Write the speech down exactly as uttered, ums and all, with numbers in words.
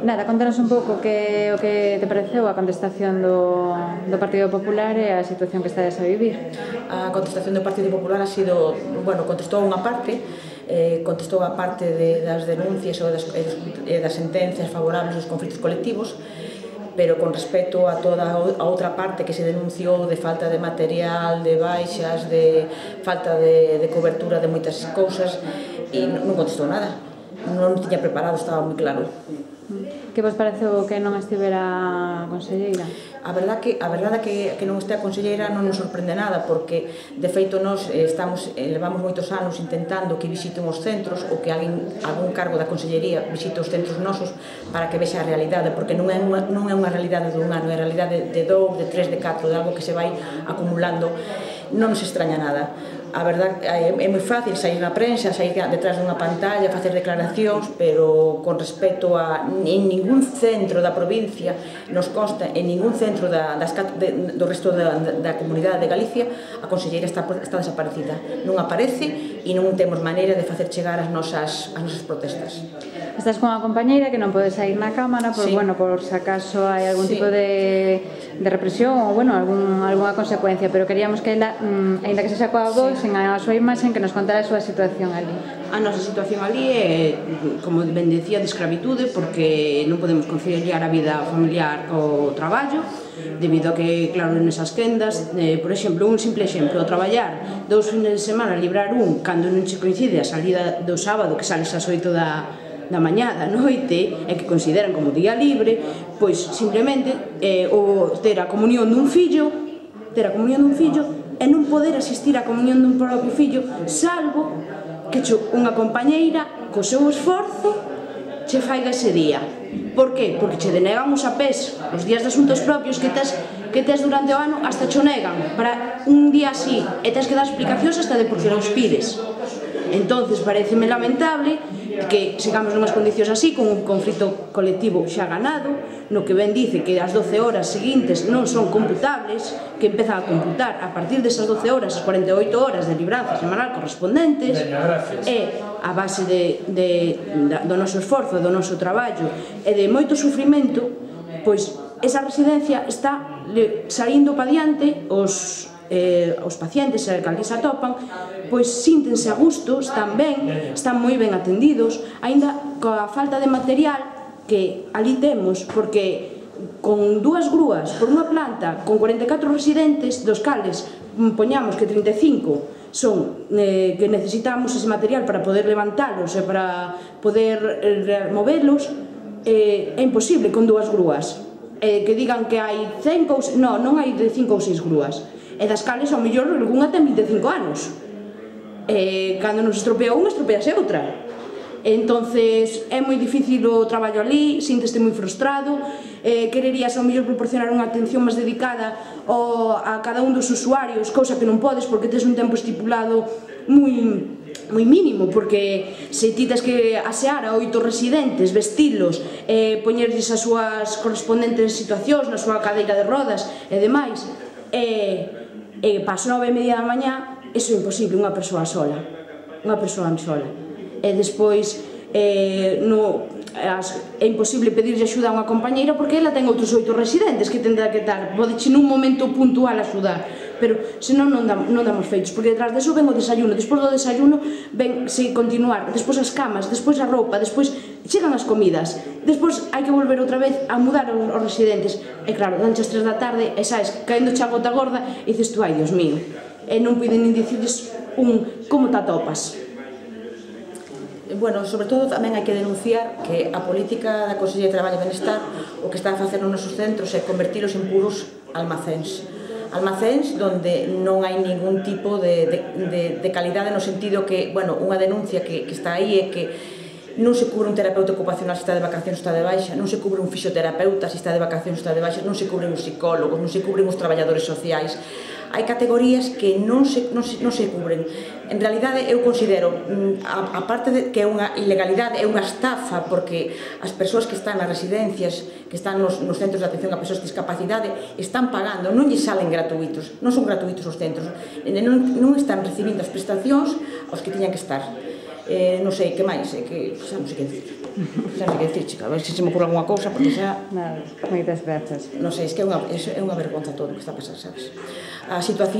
Nada, contanos un pouco que, o que te pareceu a contestación do, do Partido Popular e a situación que estades a vivir. A contestación do Partido Popular ha sido, bueno, contestou unha parte, eh, contestou a parte de, das denuncias ou das, e das sentencias favorables aos conflitos colectivos, pero con respecto a toda a outra parte que se denunciou de falta de material, de baixas, de falta de, de cobertura de moitas cousas, e non contestou nada. Non tiña preparado, estaba moi claro. Que vos pareceu que non estivera a conselleira? A verdade que a verdade que que non este a conselleira non nos sorprende nada, porque de feito nós estamos levamos moitos anos intentando que visiten os centros ou que alguén algún cargo da consellería visite os centros nosos para que vexa a realidade, porque non é unha non é unha realidade dun ano, é a realidade de dous, de tres, de catro, de algo que se vai acumulando. Non nos extraña nada. A verdade é moi fácil sair na prensa, sair detrás dunha pantalla, facer declaracións, pero con respecto a en ningún centro da provincia nos consta, en ningún centro da, das, de, do resto da, da comunidade de Galicia, a conselleira está, está desaparecida. Non aparece e non temos maneira de facer chegar as nosas, as nosas protestas. Estás con a compañeira que non pode sair na cámara por, sí. bueno, por se acaso hai algún sí. tipo de, de represión ou, bueno, algún, alguna consecuencia, pero queríamos que ela, mm, ainda que se xa coa voz, sí. en a súa imaxe, que nos contara a súa situación ali. A nosa situación ali é, como ben decía, de escravitude, porque non podemos conciliar a vida familiar co traballo, debido a que, claro, nesas quendas, eh, por exemplo, un simple exemplo, traballar dous fines de semana, librar un, cando non se coincide a salida do sábado, que sales ás oito da da mañá, da noite, e que consideran como día libre, pois simplemente eh, o ter a comunión dun fillo, ter a comunión dun fillo e non poder asistir á comunión dun propio fillo, salvo que unha compañeira, co seu esforzo, che faiga ese día. Por que? Porque che denegan os apés, os días de asuntos propios que tes, que tes durante o ano, hasta cho negan para un día así, e tes que dar explicacións hasta de por que os pides. Entonces, pareceme lamentable que sigamos nunhas condicións así, con un conflito colectivo xa ganado, no que ben dice que as doce horas seguintes non son computables, que empezan a computar a partir desas doce horas, as cuarenta e oito horas de libranza semanal correspondentes, e a base de, de, do noso esforzo, do noso traballo e de moito sufrimento, pois esa residencia está saindo pa diante, os Eh, os pacientes que ali se atopan pois síntense a gusto, están ben, están moi ben atendidos, aínda coa falta de material que ali temos, porque con dúas grúas por unha planta con corenta e catro residentes, dos cales poñamos que trinta e cinco son eh, que necesitamos ese material para poder levantalos e para poder eh, movelos, eh, é imposible con dúas grúas. Eh, que digan que hai cinco, non, non hai de cinco ou seis grúas, e das cales ao mellor algunha ten vinte e cinco anos, e cando nos estropea unha estropease outra. Entonces é moi difícil o traballo ali, sínteste moi frustrado, eh, quererías ao mellor proporcionar unha atención máis dedicada ao, a cada un dos usuarios, cousa que non podes porque tes un tempo estipulado moi moi mínimo, porque se ti tes que asear a oito residentes, vestilos, eh, poñerlles as súas correspondentes situacións na súa cadeira de rodas e demais, e e pas nove e media da mañá, iso é imposible, unha persoa sola, unha persoa sola. E despois eh, no, as, é imposible pedirlle axuda a unha compañeira porque ela ten outros oito residentes que tendrá que dar, podeche nun momento puntual axudar, pero senón non, dam, non damos feitos, porque detrás deso ven o desayuno, despois do desayuno ven se continuar, despois as camas, despois a roupa, despois chegan as comidas, despois hai que volver outra vez a mudar os, os residentes, e claro, danche as tres da tarde e sabes, caendo xa gota gorda e dices tú, ai Dios mío, e non poden nin dicirles un como te atopas. Bueno, sobre todo tamén hai que denunciar que a política da Consellería de Traballo e Benestar o que está a facer nos nosos centros é convertilos en puros almacéns. Almacéns donde non hai ningún tipo de, de, de, de calidade, no sentido que, bueno, unha denuncia que, que está aí é que non se cubre un terapeuta ocupacional se está de vacacións, está de baixa, non se cubre un fisioterapeuta se está de vacacións, está de baixa, non se cubren os psicólogos, non se cubren os traballadores sociais. Hai categorías que non se, non se, non se cubren. En realidade, eu considero, a, a parte de que é unha ilegalidade, é unha estafa, porque as persoas que están nas residencias, que están nos, nos centros de atención a persoas de discapacidade, están pagando, non lles salen gratuitos, non son gratuitos os centros, non, non están recibindo as prestacións aos que tiñan que estar. Eh, non sei, que máis, eh, que, xa non sei que dicir. Xa non sei que dicir, chica, a ver se se me ocurre alguna cousa, porque xa... Nada, moitas grazas. Non sei, es que é unha, é unha vergonza todo o que está a pasar, sabes? A situación